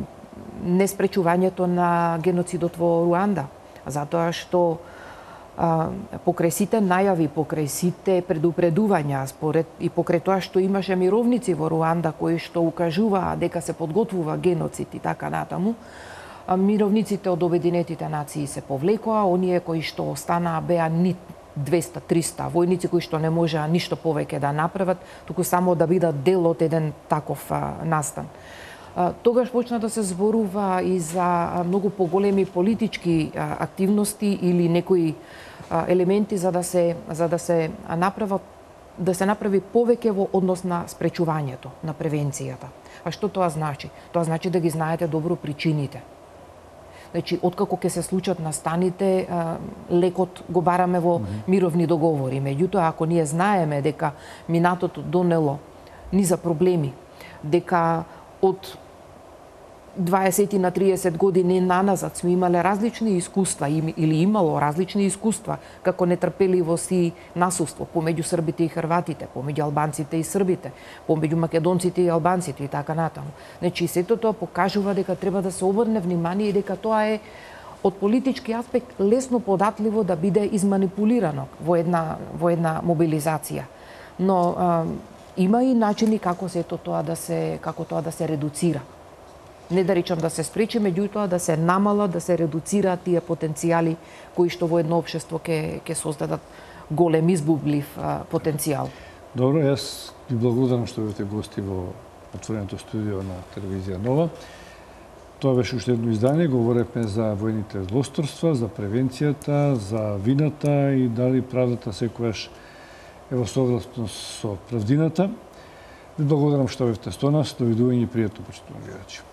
неспречувањето на геноцидот во Руанда, затоа што а, покрај сите најави, покрај сите предупредувања, според и покрај тоа што имаше мировници во Руанда кои што укажуваа дека се подготвува геноцид и така натаму, а, мировниците од Обединетите нации се повлекоа, оние кои што останаа беа ни двеста до триста војници кои што не можеа ништо повеќе да направат, туку само да бидат дел од еден таков а, настан. Тогаш почна да се зборува и за многу поголеми политички активности или некои елементи за да се за да се направат да се направи повеќе во однос на спречувањето, на превенцијата. А што тоа значи? Тоа значи да ги знаете добро причините. Значи, откако ќе се случат настаните, лекот го бараме во мировни договори. Меѓутоа, ако ние знаеме дека минатото донело низа проблеми, дека од дваесет на триесет години наназад сме имале различни искуства или имало различни искуства како нетрпеливост и насилство помеѓу србите и хрватите, помеѓу албанците и србите, помеѓу македонците и албанците и така натаму. Значи, сето тоа покажува дека треба да се обрне внимание и дека тоа е од политички аспект лесно податливо да биде изманипулирано во една во една мобилизација. Но а, има и начини како сето тоа да се како тоа да се редуцира. Не да речам да се спречи, меѓутоа да се намалат, да се редуцираат тие потенцијали кои што во едно општество ќе ќе создадат голем избублив а, потенцијал. Добро, јас ви благодарам што бевте гости во отвореното студио на телевизија Нова. Тоа беше уште едно издание, говоревме за војните злосторства, за превенцијата, за вината и дали правдата секогаш е во согласност со правдината. Ви благодарам што бевте со нас, довидување и пријатно, почитувани гледачи.